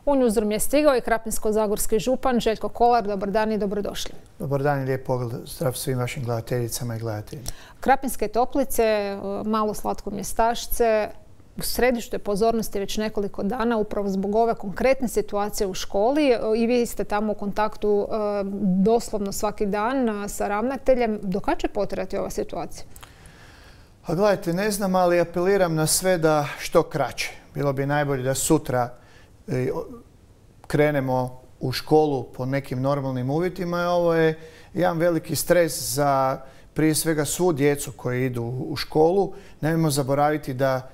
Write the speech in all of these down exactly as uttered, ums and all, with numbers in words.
U Newsroom je stigao i krapinsko-zagorski župan Željko Kolar. Dobar dan i dobrodošli. Dobar dan i lijep pozdrav svim vašim gledateljicama i gledateljima. Krapinske Toplice, malo slatko mjestašce, u središtu je pozornosti već nekoliko dana upravo zbog ove konkretne situacije u školi. I vi ste tamo u kontaktu doslovno svaki dan sa ravnateljem. Do kada će potrajati ova situacija? A gledajte, ne znam, ali apeliram na sve da što kraće. Bilo bi najbolje da sutra krenemo u školu po nekim normalnim uvjetima. Ovo je jedan veliki stres za prije svega svu djecu koji idu u školu. Nemojmo zaboraviti da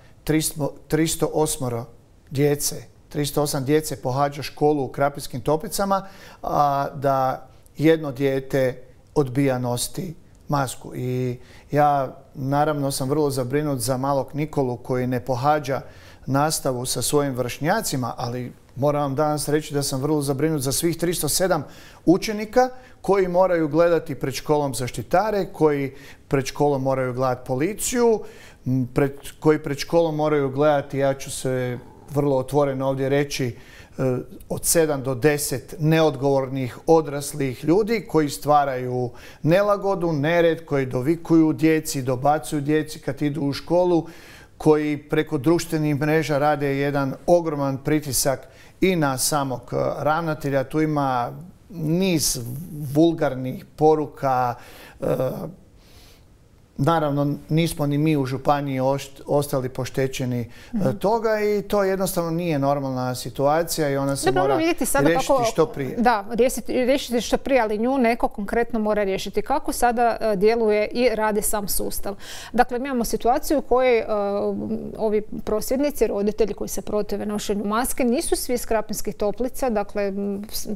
tristo osam djece, tristo osam djece pohađa školu u Krapinskim Toplicama, a da jedno dijete odbija nositi masku. I ja naravno sam vrlo zabrinut za malog Nikolu koji ne pohađa nastavu sa svojim vršnjacima, ali moram vam danas reći da sam vrlo zabrinut za svih tristo sedam učenika koji moraju gledati pred školom zaštitare, koji pred školom moraju gledati policiju, pred, koji pred školom moraju gledati, ja ću se vrlo otvoreno ovdje reći, od sedam do deset neodgovornih odraslih ljudi koji stvaraju nelagodu, nered, koji dovikuju djeci, dobacuju djeci kad idu u školu, koji preko društvenih mreža rade jedan ogroman pritisak i na samog ravnatelja. Tu ima niz vulgarnih poruka. Naravno, nismo ni mi u županiji ostali poštećeni mm-hmm. toga i to jednostavno nije normalna situacija i ona se Dobro, mora riješiti kako, što prije. Da, riješiti, riješiti što prije, ali nju neko konkretno mora riješiti. Kako sada uh, djeluje i radi sam sustav? Dakle, mi imamo situaciju u kojoj uh, ovi prosvjednici, roditelji koji se protive nošenju maske, nisu svi iz Krapinskih Toplica. Dakle,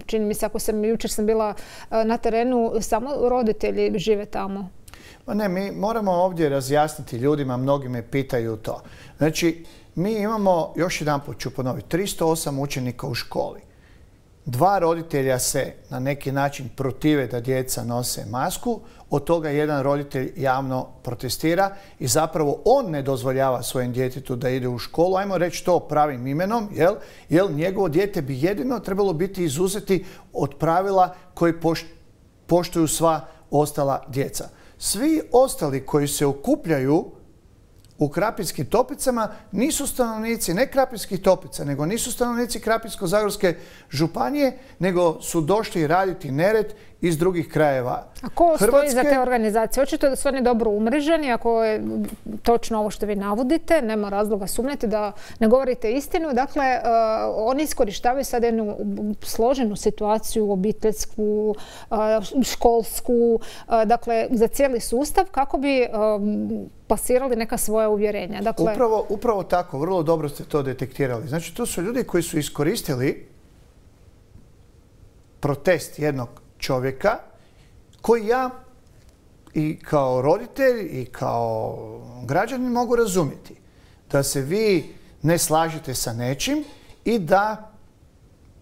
čini mi se, ako sam jučer sam bila uh, na terenu, samo roditelji žive tamo. Ma ne, mi moramo ovdje razjasniti ljudima, mnogi me pitaju to. Znači, mi imamo, još jedan put ću ponoviti, tristo osam učenika u školi. Dva roditelja se na neki način protive da djeca nose masku, od toga jedan roditelj javno protestira i zapravo on ne dozvoljava svojem djetetu da ide u školu. Ajmo reći to pravim imenom, jel? Jel njegovo dijete bi jedino trebalo biti izuzeti od pravila koji poštuju sva ostala djeca. Svi ostali koji se okupljaju u Krapinskim Toplicama nisu stanovnici ne Krapinskih Toplica, nego nisu stanovnici Krapinsko-zagorske županije, nego su došli raditi nered iz drugih krajeva A ko Hrvatske. Stoji za te organizacije? Očito da su oni dobro umreženi, ako je točno ovo što vi navodite, nema razloga sumnjati da ne govorite istinu. Dakle, uh, oni iskorištavaju sad jednu složenu situaciju, obiteljsku, uh, školsku, uh, dakle, za cijeli sustav, kako bi uh, plasirali neka svoja uvjerenja. Dakle, upravo, upravo tako, vrlo dobro ste to detektirali. Znači, to su ljudi koji su iskoristili protest jednog čovjeka koji ja i kao roditelj i kao građanin mogu razumjeti. Da se vi ne slažete sa nečim i da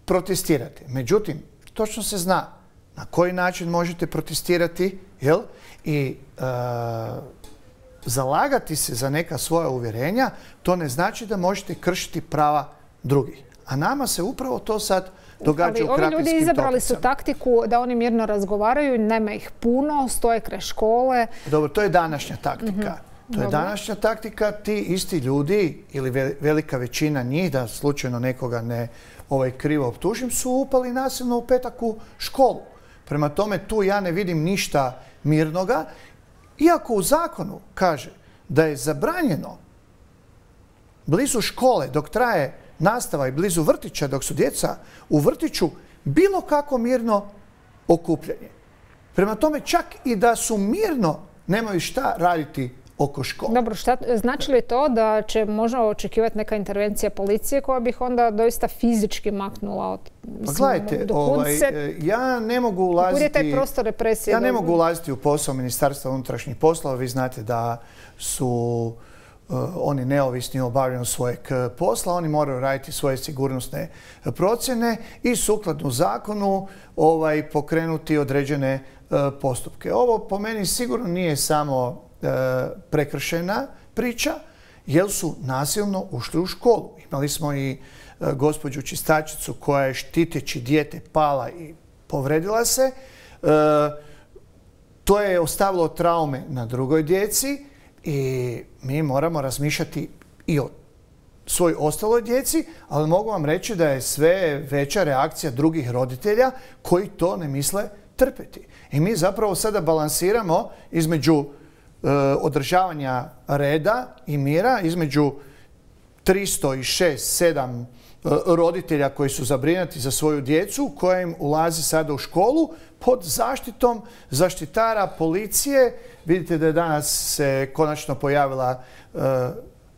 protestirate. Međutim, točno se zna na koji način možete protestirati, jel? I e, zalagati se za neka svoja uvjerenja, to ne znači da možete kršiti prava drugih. A nama se upravo to sad događa u Krapinskim Toplicama. Ovi ljudi izabrali su taktiku da oni mirno razgovaraju, nema ih puno, stoje kraj škole. Dobro, to je današnja taktika. Mm-hmm. To je Dobro. današnja taktika. Ti isti ljudi, ili velika većina njih, da slučajno nekoga ne ovaj, krivo optužim, su upali nasilno u petak u školu. Prema tome, tu ja ne vidim ništa mirnoga. Iako u zakonu kaže da je zabranjeno blizu škole dok traje nastava i blizu vrtića dok su djeca u vrtiću bilo kako mirno okupljanje. Prema tome, čak i da su mirno, nemaju šta raditi oko škole. Dobro, šta, znači li to da će možda očekivati neka intervencija policije koja bi ih onda doista fizički maknula od... Pa gledajte, ovaj, ja ne mogu ulaziti... taj prostor represije? Ja ne mogu ulaziti u posao Ministarstva unutrašnjih poslova. Vi znate da su uh, oni neovisni u obavljanju svojeg posla. Oni moraju raditi svoje sigurnosne procjene i sukladno zakonu ovaj, pokrenuti određene uh, postupke. Ovo po meni sigurno nije samo uh, prekršajna priča, jer su nasilno ušli u školu. Imali smo i gospođu čistačicu koja je štiteći dijete pala i povredila se. To je ostavilo traume na drugoj djeci i mi moramo razmišljati i o svoj ostaloj djeci, ali mogu vam reći da je sve veća reakcija drugih roditelja koji to ne misle trpeti. I mi zapravo sada balansiramo između e, održavanja reda i mira, između tristo šest sedam e, roditelja koji su zabrinuti za svoju djecu, koja im ulazi sada u školu pod zaštitom zaštitara policije. Vidite da je danas se konačno pojavila e,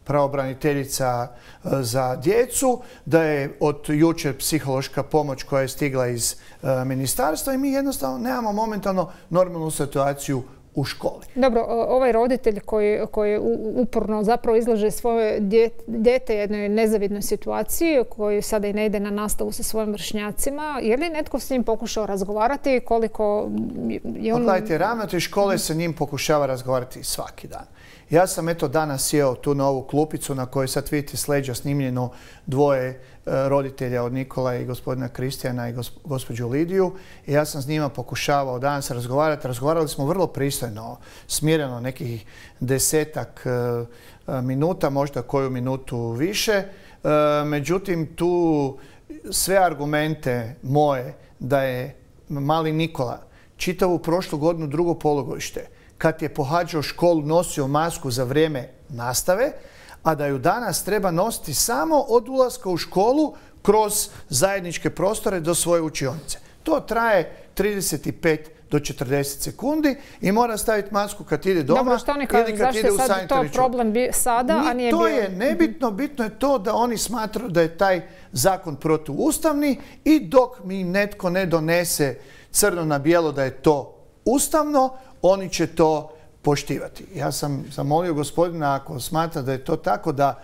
pravobraniteljica za djecu, da je od jučer psihološka pomoć koja je stigla iz e, ministarstva i mi jednostavno nemamo momentalno normalnu situaciju u školi. Dobro, ovaj roditelj koji, koji uporno zapravo izlaže svoje dijete jednoj nezavidnoj situaciji, koji sada i ne ide na nastavu sa svojim vršnjacima, je li netko s njim pokušao razgovarati? Koliko je on... Gledajte, ravnatelj škole se njim pokušava razgovarati svaki dan. Ja sam eto danas sjeo tu na ovu klupicu na kojoj sad vidite s leđa snimljeno dvoje roditelja od Nikola i gospodina Kristijana i gospođu Lidiju. I ja sam s njima pokušavao danas razgovarati. Razgovarali smo vrlo pristojno, smireno, nekih desetak minuta, možda koju minutu više. Međutim, tu sve argumente moje da je mali Nikola čitavu prošlu godinu drugo polugodište, kad je pohađao školu, nosio masku za vrijeme nastave, a da ju danas treba nositi samo od ulaska u školu kroz zajedničke prostore do svoje učionice. To traje trideset pet do četrdeset sekundi i mora staviti masku kad ide doma. Dobro, što oni kažu, zašto je sad to problem sada, a nije bio... To je nebitno, bitno je to da oni smatraju da je taj zakon protuustavni i dok mi netko ne donese crno na bijelo da je to ustavno, oni će to poštivati. Ja sam zamolio gospodina, ako smatra da je to tako, da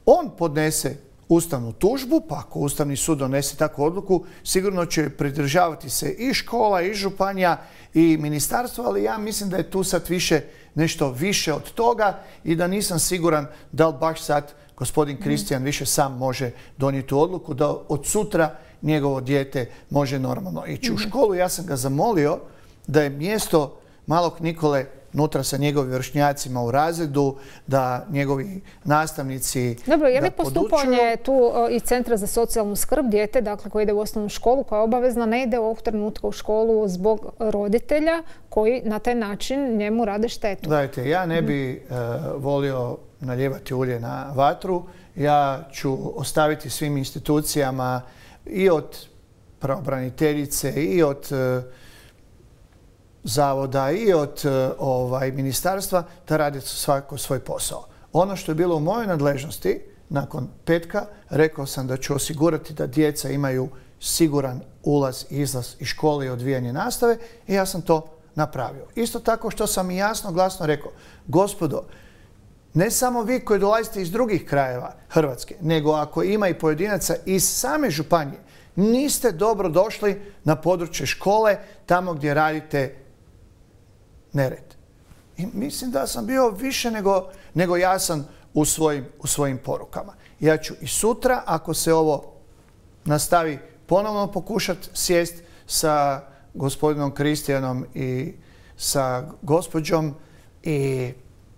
on podnese ustavnu tužbu, pa ako Ustavni sud donese takvu odluku, sigurno će pridržavati se i škola, i županija, i ministarstvo, ali ja mislim da je tu sad više nešto više od toga i da nisam siguran da li baš sad gospodin Kristijan više sam može donijeti tu odluku, da od sutra njegovo dijete može normalno ići u školu. Ja sam ga zamolio da je mjesto malog Nikole nutra sa njegovim vršnjacima u razredu, da njegovi nastavnici Dobro, je li postupanje tu i Centra za socijalnu skrb dijete, dakle koji ide u osnovnu školu, koja je obavezna, ne ide ovog trenutka u školu zbog roditelja koji na taj način njemu rade štetu? Gledajte, ja ne bi uh, volio nalijevati ulje na vatru. Ja ću ostaviti svim institucijama i od pravobraniteljice i od uh, zavoda i od ovaj, ministarstva da radi svako svoj posao. Ono što je bilo u mojoj nadležnosti, nakon petka, rekao sam da ću osigurati da djeca imaju siguran ulaz i izlaz iz škole i odvijanje nastave i ja sam to napravio. Isto tako što sam i jasno glasno rekao, gospodo, ne samo vi koji dolazite iz drugih krajeva Hrvatske, nego ako ima i pojedinaca iz same županije, niste dobro došli na područje škole, tamo gdje radite nered. I mislim da sam bio više nego, nego jasan u svojim, u svojim porukama. Ja ću i sutra, ako se ovo nastavi, ponovno pokušati sjest sa gospodinom Kristijanom i sa gospođom i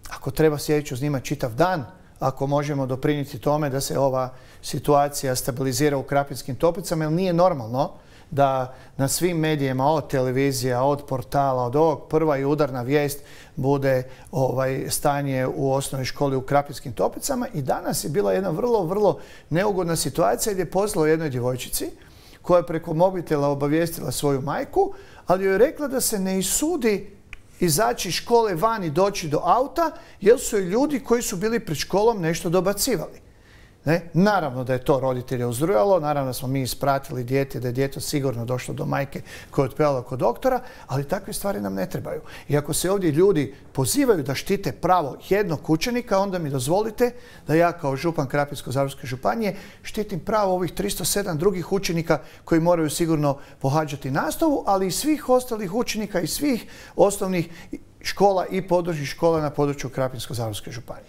ako treba sjedit ću s njima čitav dan, ako možemo doprinijeti tome da se ova situacija stabilizira u Krapinskim Toplicama, jer nije normalno da na svim medijima, od televizija, od portala, od ovog prva i udarna vijest bude ovaj, stanje u osnovnoj školi u Krapinskim Toplicama. I danas je bila jedna vrlo, vrlo neugodna situacija gdje je poslala jednoj djevojčici koja je preko mobitela obavijestila svoju majku, ali joj je rekla da se ne isudi izaći iz škole van i doći do auta, jer su joj ljudi koji su bili pred školom nešto dobacivali. Ne? Naravno da je to roditelje uzrujalo, naravno da smo mi ispratili dijete, da je dijete sigurno došlo do majke koja je otpevalo kod doktora, ali takve stvari nam ne trebaju. I ako se ovdje ljudi pozivaju da štite pravo jednog učenika, onda mi dozvolite da ja kao župan Krapinsko-zagorske županije štitim pravo ovih tristo sedam drugih učenika koji moraju sigurno pohađati nastavu, ali i svih ostalih učenika i svih osnovnih škola i područnih škola na području Krapinsko-zagorske županije.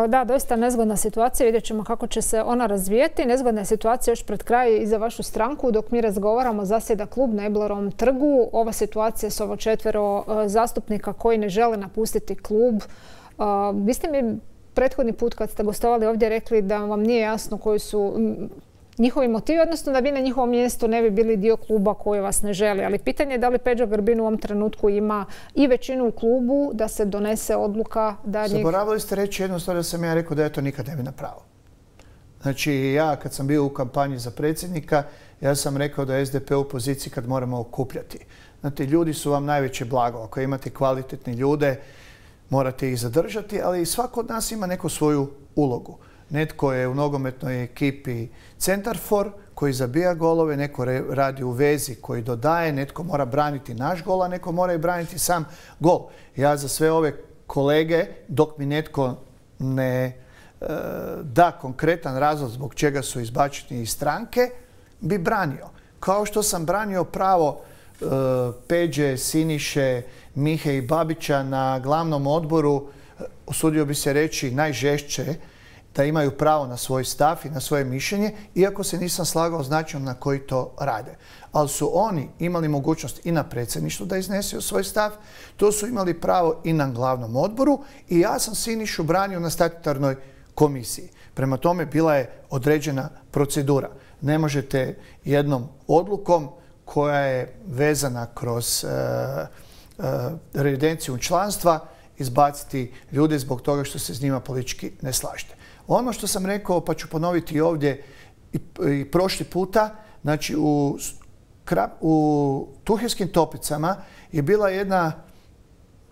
Da, doista nezgodna situacija. Vidjet ćemo kako će se ona razvijeti. Nezgodna je situacija još pred kraj i za vašu stranku. Dok mi razgovaramo, zasjeda klub na Iblerovom trgu. Ova situacija s ovo četvero zastupnika koji ne žele napustiti klub. Vi ste mi prethodni put kad ste gostovali ovdje rekli da vam nije jasno koji su njihovi motivi, odnosno da vi na njihovom mjestu ne bi bili dio kluba koji vas ne želi. Ali pitanje je da li Peđa Grbin u ovom trenutku ima i većinu u klubu da se donese odluka da njih... Zaboravili ste reći jednu stvar, da sam ja rekao da ja to nikad ne bi napravio. Znači ja kad sam bio u kampanji za predsjednika, ja sam rekao da je S D P u poziciji kad moramo okupljati. Znate, ljudi su vam najveće blago. Ako imate kvalitetne ljude, morate ih zadržati, ali svako od nas ima neku svoju ulogu. Netko je u nogometnoj ekipi centarfor koji zabija golove, neko radi u vezi koji dodaje, netko mora braniti naš gol, a neko mora i braniti sam gol. Ja za sve ove kolege, dok mi netko ne e, da konkretan razlog zbog čega su izbačeni iz stranke, bi branio. Kao što sam branio pravo e, Peđe, Siniše, Mihe i Babića na glavnom odboru, usudio bi se reći najžešće, da imaju pravo na svoj stav i na svoje mišljenje, iako se nisam slagao s načinom na koji to rade. Ali su oni imali mogućnost i na predsjedništvu da iznesu svoj stav, to su imali pravo i na glavnom odboru i ja sam Sinišu branio na statutarnoj komisiji. Prema tome bila je određena procedura. Ne možete jednom odlukom koja je vezana kroz uh, uh, revidenciju članstva izbaciti ljude zbog toga što se s njima politički ne slažete. Ono što sam rekao, pa ću ponoviti ovdje i, i prošli puta, znači u, u Tuhinskim Toplicama je bila jedna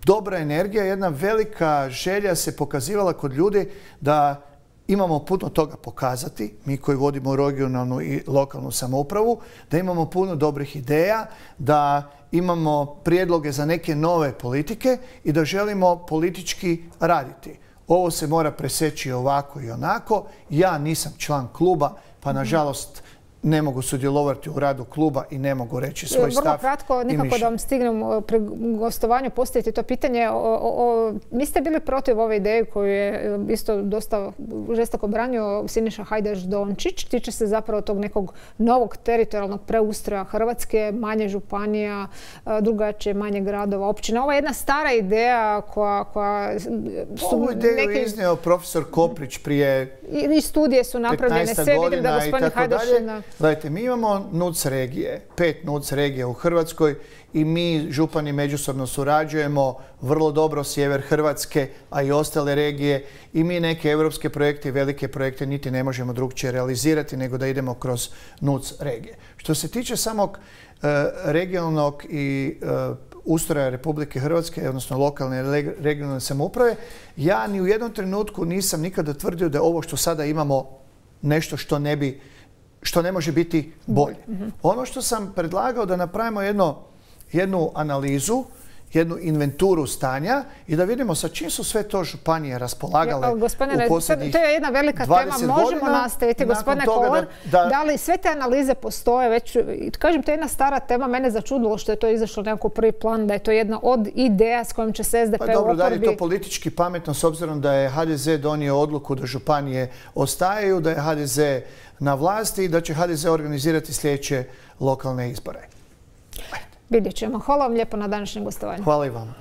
dobra energija, jedna velika želja se pokazivala kod ljudi da imamo puno toga pokazati, mi koji vodimo regionalnu i lokalnu samoupravu, da imamo puno dobrih ideja, da imamo prijedloge za neke nove politike i da želimo politički raditi. Ovo se mora preseći ovako i onako. Ja nisam član kluba, pa nažalost ne mogu sudjelovati u radu kluba i ne mogu reći svoj stav. Vrlo kratko, nikako da vam stignem pri gostovanju postaviti to pitanje. O, o, vi ste bili protiv ove ideje koju je isto dosta žestoko branio Siniša Hajdaš-Dončić. Tiče se zapravo tog nekog novog teritorijalnog preustroja Hrvatske, manje županija, drugačije, manje gradova, općina. Ovo je jedna stara ideja koja... koja su Ovu ideju neki... je iznio profesor Koprić prije I, i studije su napravljene. Sve vidim da gospodin Hajdaš... Gledajte, mi imamo N U C regije, pet N U C regija u Hrvatskoj i mi župani međusobno surađujemo vrlo dobro, sjever Hrvatske, a i ostale regije, i mi neke evropske projekte i velike projekte niti ne možemo drugčije realizirati nego da idemo kroz N U C regije. Što se tiče samog uh, regionalnog i uh, ustroja Republike Hrvatske, odnosno lokalne i regionalne samouprave, ja ni u jednom trenutku nisam nikada tvrdio da je ovo što sada imamo nešto što ne bi što ne može biti bolje. Mm-hmm. Ono što sam predlagao da napravimo jedno, jednu analizu, jednu inventuru stanja i da vidimo sa čim su sve to županije raspolagale ja, u posljednjih to je jedna velika tema, možemo nastaviti. Gospodine Kolar, da, da, da li sve te analize postoje već, kažem, to je jedna stara tema, mene začudilo što je to izašlo nekako prvi plan, da je to jedna od ideja s kojom će se S D P pa, dobro, u oporbi... Da li je to politički pametno s obzirom da je H D Z donio odluku da županije ostaju, da je H D Z na vlasti i da će H D Z organizirati sljedeće lokalne izbore. Vidjet ćemo. Hvala vam lijepo na današnjem gostovanju. Hvala i vama.